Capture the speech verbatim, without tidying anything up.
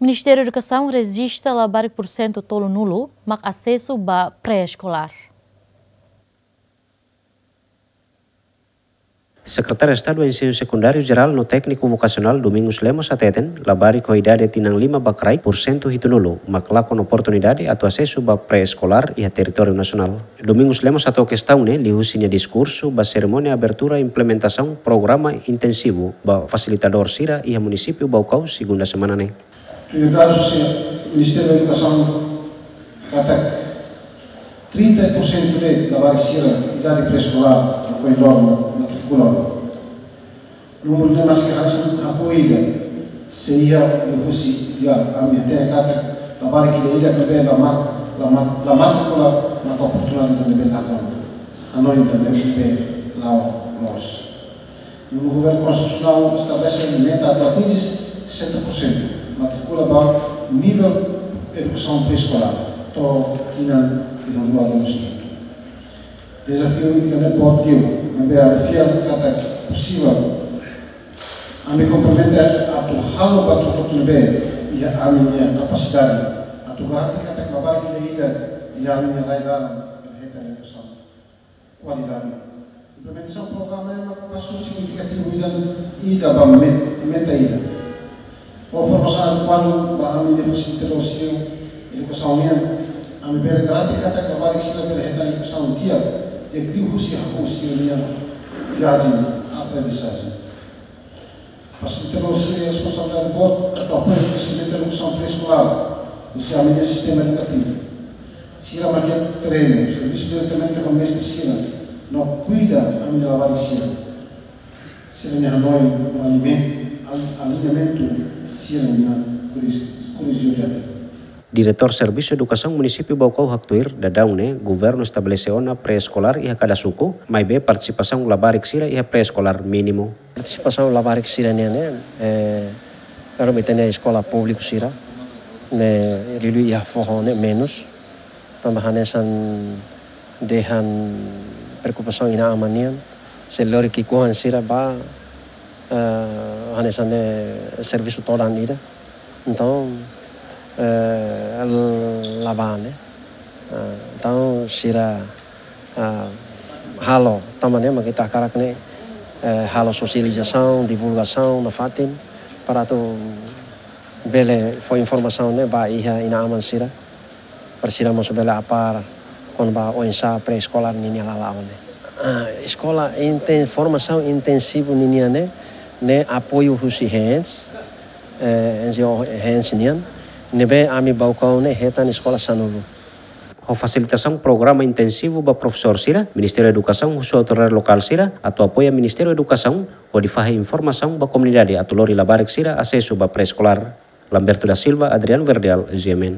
Ministériu Edukasaun rejista labarik pursentu tolunulu mak asesu ba pré-eskolár. Sekretáriu Estadu Ensinu Sekundáriu Jerál no Tékniku Vokasionál Domingos Lemos hateten, labarik ho idade tinan lima ba kraik pursentu hitunulu mak lakon oportunidade atu asesu ba pré-eskolár iha territóriu nasionál. Domingos Lemos hato'o kestaun ne'e liuhusi nia diskursu ba serimónia abertura implementasaun programa intensivu ba fasilitadór sira iha munisípiu Baucau, segunda semana ne'e. Tuir dadus husi Ministériu Edukasaun katak trinta por cento de labarik sira idade pré-eskolár no koridór matrikula. Númeru ne'e maski hanesan hahú ida, se iha liuhusi ida ami hatene katak labarik ida-idak ne'ebé la ma-, la ma-, la matrikula maka oportunidade ida ne'ebé la kona. Hanoin ida ne'ebé la'o loos. Nu'udar governu konstitusionál estabelese meta atu atinje sessenta por cento matrikula ba nivel edukasaun pré-eskolár to'o tinan ida rua lima. Dezafiu ida-ne'e boot liu, maibé ami fiar katak posivel. Ami kompromete atu halo buat hotu-hotu ne'ebé iha ami-nia kapasidade atu garante katak labarik ida-idak iha ami-nia rai-laran hetan edukasaun kualidade. Implementasaun programa ne'e mak pasu signifikativu ida, ida ba met-, meta ida. Ho formasaun adekuadu ba ami-nia fasilitadór sira edukasaun nian, ami bele garante katak labarik sira bele hetan edukasaun di'ak, di'ak liuhusi hahú sira-nia viajen aprendizajen. Fasilitadór sira iha responsabilidade boot atu apoiu kresesimentu edukasaun pré-eskolár husi ami-nia sistema edukativu. Sira mak iha terrenu, servisu diretamente ho mestre sira no kuida ami-nia labarik sira. Sira-nia hanoin no alimen-, al-, aliñamentu sira-nia kurios-, kuriosidade. Diretór Servisu Edukasaun Munisípiu Baucau haktuir, daudaun ne'e governu estabelese ona pré-eskolár iha kada suku, maibé partisipasaun labarik sira iha pré-eskolár mínimu. Partisipasaun labarik sira nian ne'e, eh, kalau ita-nia eskola públiku sira ne'e liuliu iha foho ne'e menus. Tanba hanesan dehan preokupasaun inan-aman nian, se lori ki'ikoan sira ba, eh, hanesan ne'e servisu todan ida. Entaun, eh, la bá ne'e. Eh, entaun sira, eh, halo, tanba ne'e mak ita hakarak ne'e, eh, halo sosializasaun, divulgasaun nafatin, para atu bele fó informasaun ne'e ba iha inan-aman sira, para sira mós bele apár kona-ba oinsá pré-eskolár ninia lala'ok ne'e. Ah, eskola inten-, formasaun intensivu ninian ne'e, ne'e apoiu husi HENS, eh, N G O HENS nian, ne'ebé ami Baucau ne'e hetan eskola sanulu. Ho fasilitasaun programa intensivu ba profesór sira, Ministériu Edukasaun husu autoridade lokál sira atu apoia Ministériu Edukasaun hodi fahe informasaun ba komunidade atu lori labarik sira asesu ba pré-eskolár. Lamberto da Silva, Adriano Verdial, G M N.